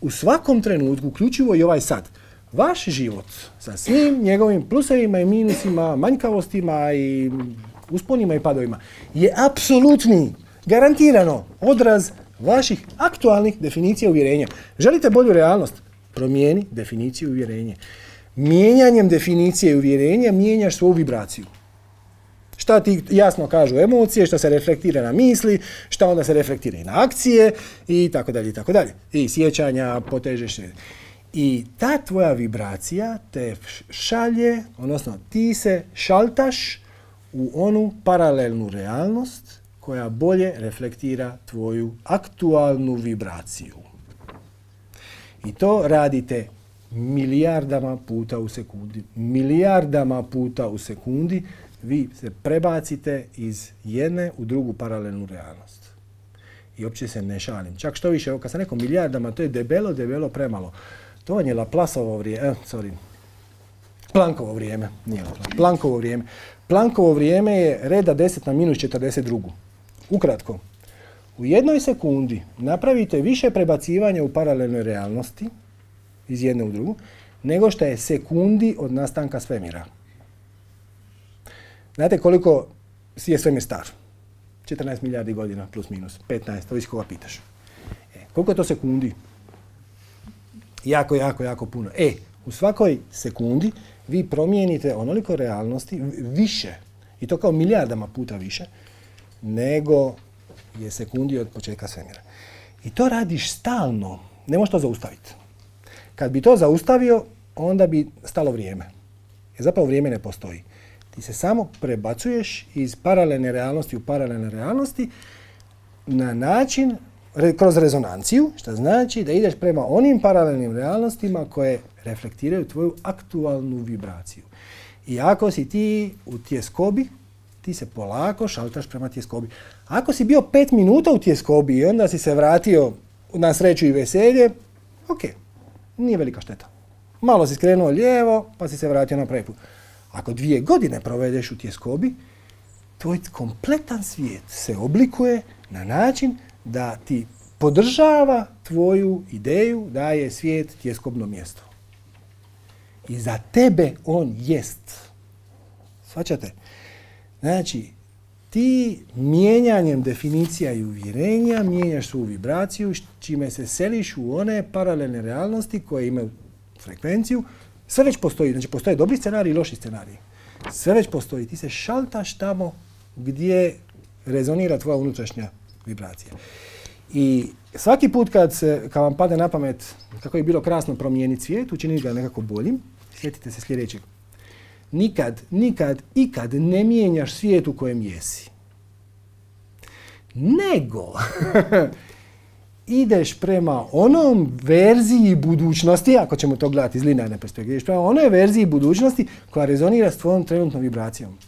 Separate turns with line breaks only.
u svakom trenutku, uključivo i ovaj sad, vaš život sa svim njegovim plusevima i minusima, manjkavostima i usponima i padovima je apsolutni, garantirano odraz vaših aktualnih definicija uvjerenja. Želite bolju realnost? Promijeni definiciju uvjerenja. Mijenjanjem definicije uvjerenja mijenjaš svoju vibraciju. Šta ti jasno kažu emocije, šta se reflektira na misli, šta onda se reflektira i na akcije i tako dalje i tako dalje. I sjećanja, potežeš. I ta tvoja vibracija te šalje, odnosno ti se šaltaš u onu paralelnu realnost koja bolje reflektira tvoju aktualnu vibraciju. I to radite milijardama puta u sekundi. Milijardama puta u sekundi vi se prebacite iz jedne u drugu paralelnu realnost. I uopće se ne šalim. Čak što više, kad sam rekao milijardama, to je debelo premalo. To vam je Laplaceovo vrijeme, Planckovo vrijeme, nije Planckovo vrijeme. Planckovo vrijeme je reda 10 na minus 42. Ukratko, u jednoj sekundi napravite više prebacivanja u paralelnoj realnosti iz jedne u drugu, nego što je sekundi od nastanka svemira. Znate koliko je svemir star? 14 milijardi godina plus minus, 15, ovisi koga pitaš. Koliko je to sekundi? Jako puno. U svakoj sekundi vi promijenite onoliko realnosti više, i to kao milijardama puta više, nego je sekundi od početka svemira. I to radiš stalno, ne možeš to zaustaviti. Kad bi to zaustavio, onda bi stalo vrijeme. Jer zapravo vrijeme ne postoji. Ti se samo prebacuješ iz paralelne realnosti u paralelne realnosti na način, kroz rezonanciju, što znači da ideš prema onim paralelnim realnostima koje reflektiraju tvoju aktualnu vibraciju. I ako si ti u tjeskobi, ti se polako šaltaš prema tjeskobi. Ako si bio 5 minuta u tjeskobi i onda si se vratio na sreću i veselje, ok, nije velika šteta. Malo si skrenuo lijevo, pa si se vratio na pravi put. Ako 2 godine provedeš u tjeskobi, tvoj kompletan svijet se oblikuje na način da ti podržava tvoju ideju da je svijet tjeskobno mjesto. I za tebe on jest. Shvaćate? Znači, ti mijenjanjem definicija i uvjerenja mijenjaš svoju vibraciju, čime se seliš u one paralelne realnosti koje imaju frekvenciju. Sve već postoji, znači postoje dobri scenariji i loši scenariji. Sve već postoji, ti se šaltaš tamo gdje rezonira tvoja unutrašnja vibracija. I svaki put kad vam padne na pamet kako je bilo krasno promijeniti svijet, učiniti ga nekako boljim, sjetite se sljedećeg. Ikad ne mijenjaš svijet u kojem jesi. Nego ideš prema onom verziji budućnosti, ako ćemo to gledati iz linearne perspektive, ideš prema onoj verziji budućnosti koja rezonira s tvojom trenutnom vibracijom.